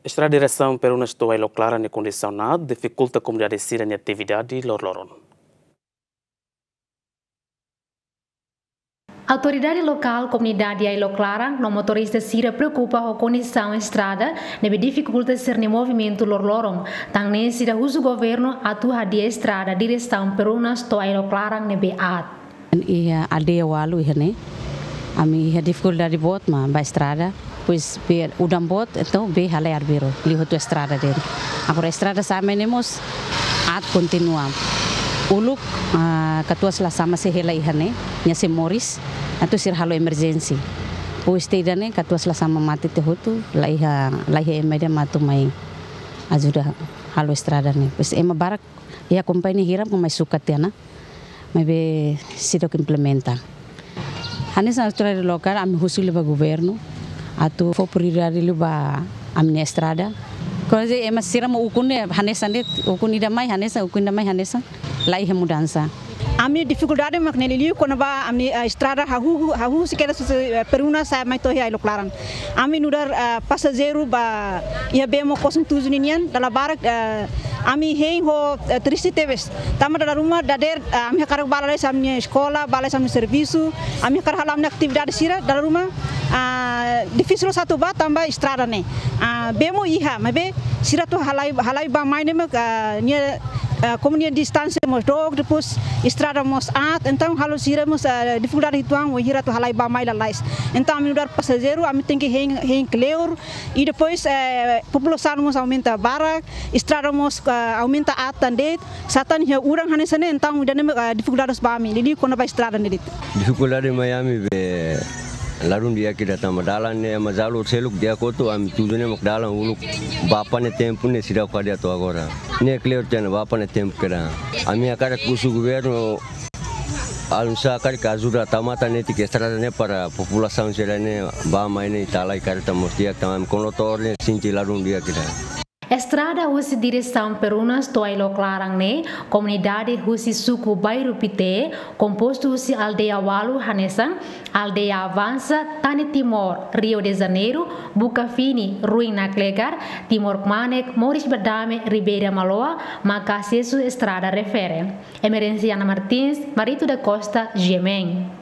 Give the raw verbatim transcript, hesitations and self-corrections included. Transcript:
Estrada diresaun Perunas to'o Ailok Laran nia kondisaun aat difikulta komunidade sira-nia atividade loroloron. Autoridade lokál, komunidade Ailok Laran no motorista sira preokupa ho kondisaun estrada ne'ebé difikulta sira-nia movimentu loroloron. Tan ne'e sira husu governu atu hadi'a estrada diresaun Perunas to'o Ailok Laran ne'ebé aat. Iha aldeia ualu iha ne'e, ami iha difikuldade boot mak ba estrada, pois bee udan boot, entaun bee halai arbiru, liu hotu estrada de'it. Agora estrada sa'e mai ne'e mós aat kontinua. Uluk, ah, katuas la sama sei hela iha ne'e, nia sei moris, atu sira halo emerjénsia. Pois to'o ida-ne'e, katuas la sama mate tiha hotu, la iha, la iha ema ida mak atu mai ajuda halo estrada ne'e. Pois ema barak, iha kompañia hirak mak mai sukat tiha ona, maibé seidauk implementa. Hanesan autoridade lokál, ami husu liu ba governu atu fó prioridade liu ba ami-nia estrada. Kuaze ema sira mak ukun ne'e hanesan de'it, ukun ida mai hanesan, ukun ida mai hanesan, la iha mudansa. Ami-nia difikuldade mak ne'e liuliu kona-ba ami-nia, eh, estrada hahú, hahú husi kedas husi, eh, Perunas sa'e mai to'o iha Ailok Laran. Ami nu'udar, eh, pasajeiru ba iha bee moos kosong tujuh ninian, dala barak, eh, ami hein ho, eh, triste tebes. Tanba dala ruma dadeer, eh, ami hakarak bá lalais ami-nia eskola, bá lalais ami-nia servisu, ami hakarak halo ami-nia atividade sira, dala ruma, ah, difisil loos atu bá tanba estrada ne'e. Ah, bee mós iha, maibé sira atu halai, halai bá mai ne'e mak, ah, nia, ah, komu nia distánsia mós dook, depois estrada mós aat, entaun halo sira mós, ah, difikuldade uitoan wainhira atu halai bá mai lalais. Entaun ami nu'udar pasajeiru, ami tenke hein, hein kleur, i depois, eh, populasaun mós aumenta barak, estrada mós, ah, aumenta aat tan de'it, sá tan iha udan hanesan ne'e, entaun ida-ne'e, ah, difikuldade ba ami, liuliu kona-ba estrada ne'e de'it. Difikuldade mai ami be ladún di'ak ida tanba dalan ne'e ema jalu seluk di'ak hotu, ami tuju ne'e mak dalan uluk bapa nia tempu ne'e seidauk hadi'a to'o agora. Ne'e kleur tiha ona bapa nia tempu kedas. Ami hakarak husu governu, alun sa hakarak ajuda tau matan netik estrada ne'e para populasaun sira ne'e bá mai ne'e ita halai kareta mós di'ak tanba ami kondutór ne'e sente ladún di'ak ida. Estrada husi diresaun Perunas to'o Ailok Laran ne'e, komunidade husi suku Bairru Pité, kompostu husi aldeia ualu hanesan, aldeia Avansa, Tani Timor, Rio de Janeiro, Buka Fini, Ruin Naklegar, Timor Kmanek, Moris Badame, Ribeira Maloa, maka asesu estrada refere. Emerenciana Martins, Marito da Costa, G M N.